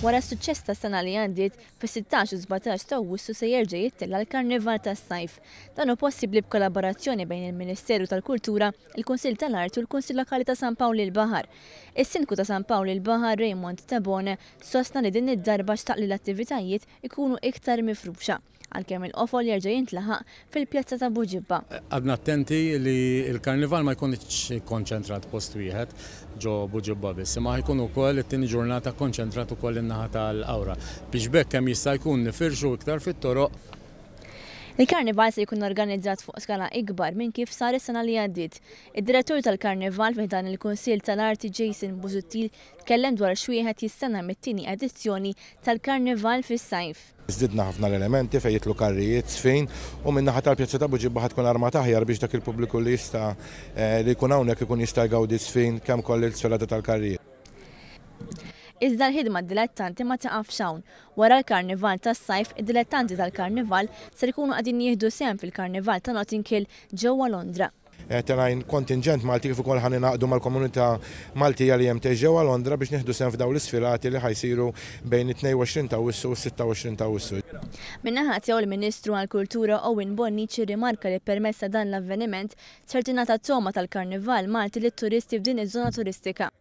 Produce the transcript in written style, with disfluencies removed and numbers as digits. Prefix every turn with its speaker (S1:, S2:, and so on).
S1: Wara s-suċċess tas-sena li għaddiet, fis-16 u 17 ta' Awwissu se jerġa' jittella' l-Karnival tas-Sajf. Dan hu possibbli b'kollaborazzjoni bejn il-Ministeru tal-Kultura, il-Kunsill tal-Arti u l-Kunsill Lokali ta' San Pawl il-Baħar. Is-Sindku ta' San Pawl il-Baħar, Raymond Tabone, sostna li din id-darba xtaq li l-attivitajiet ikunu iktar mifruxa, għalkemm il-qofol jerġa' jintlaħaq fil-Pjazza ta' Buġibba.
S2: Qgħadna attenti li l-Karnival ma jkunx ikkonċentrat post wieħed ġo Buġibba biss, imma ħa jkun ukoll it-tieni ġurnata kkonċentrat ukoll in-naħa tal-Qawra biex b'hekk kemm jista' jkun nifirxu iktar fit-toroq.
S1: Il-Karnival se jkun organizzat fuq skala ikbar minn kif sar is-sena li għaddiet. Id-Direttur tal-Karnival fi ħdan il-Kunsill tal-Arti Jason Busuttil tkellem dwar x'wieħed jistenna mit-tieni edizzjoni tal-Karnival fis-sajf.
S3: Żdidna ħafna l-elementi fejn jidħlu karrijiet, żfin u min-naħa tal-Pjazza ta' Buġibba ħa tkun armata aħjar biex dak il-pubbliku li jista' li jkun hawnhekk ikun jista' jgawdi ż-żfin kemm ukoll il-sfilata tal-karrijiet.
S1: Iżda l-ħidma dilettanti ma tiqafx hawn. Wara l-Karnival tas-Sajf, id-dilettanti tal-Karnival ser ikunu qegħdin jieħdu sehem fil-Karnival ta' Notting Hill ġewwa Londra.
S3: Telgħin kontinġent Malti kif ukoll ħa ningħaqdu mal-komunità Maltija li hemm tgħix ġewwa Londra biex nieħdu sehem f'dawn l-isfilati li ħa jsiru bejn it-22 ta' Awwissu u s-26 ta' Awwissu.
S1: Min-naħa tiegħu l-Ministru għall-Kultura Owen Bonnici rrimarka li permezz ta' dan l-avveniment ser tingħata togħma tal-Karnival Malti lit-turisti f'din iż-żona turistika.